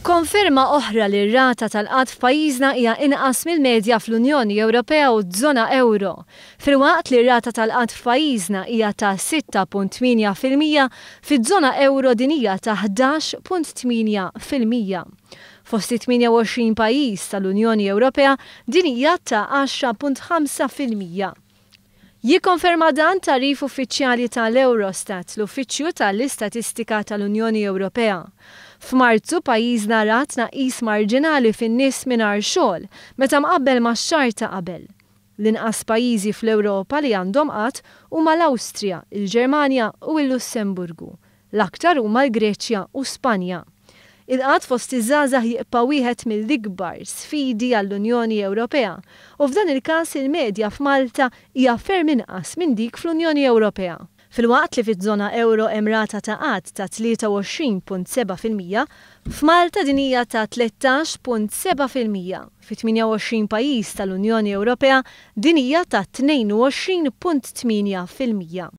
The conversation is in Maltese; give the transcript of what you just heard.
Konferma oħra li r-rata tal-qgħad f'pajjiżna hija inqas mill-medja fl-Unjoni Ewropea u z-Zona Ewro. Filwaqt li r-rata tal-qgħad f'pajjiżna hija ta' 6.8%, fiz-Zona Ewro din hija ta' 11.8%. Fost it-28 pajjiż tal-Unjoni Ewropea din hija ta' 10.5%. Jikkonferma dan tagħrif uffiċjali tal-Eurostat, l-Uffiċċju tal-Istatistika tal-Unjoni Ewropea. F'Marzu pajjiżna ra tnaqqis marġinali fin-nies mingħajr xogħol meta mqabbel max-xahar ta' qabel. L-inqas pajjiżi fl-Ewropa li għandhom qgħad huma l-Awstrija, il-Ġermanja u l-Lussemburgu. L-aktar huma l-Greċja u Spanja. Il-qgħad fost iż-żgħażagħ jibqa' wieħed mill-ikbar sfidi għall-Unjoni Ewropea u f'dan il-każ il-medja f'Malta hija ferm inqas minn dik fl-Unjoni Ewropea. Filwaqt li fiż-żona ewro hemm rata ta' qgħad ta' 23.7%, f'Malta din hija ta' 13.7%. Fi 28 pajjiż tal-Unjoni Ewropea din hija ta' 22.8%.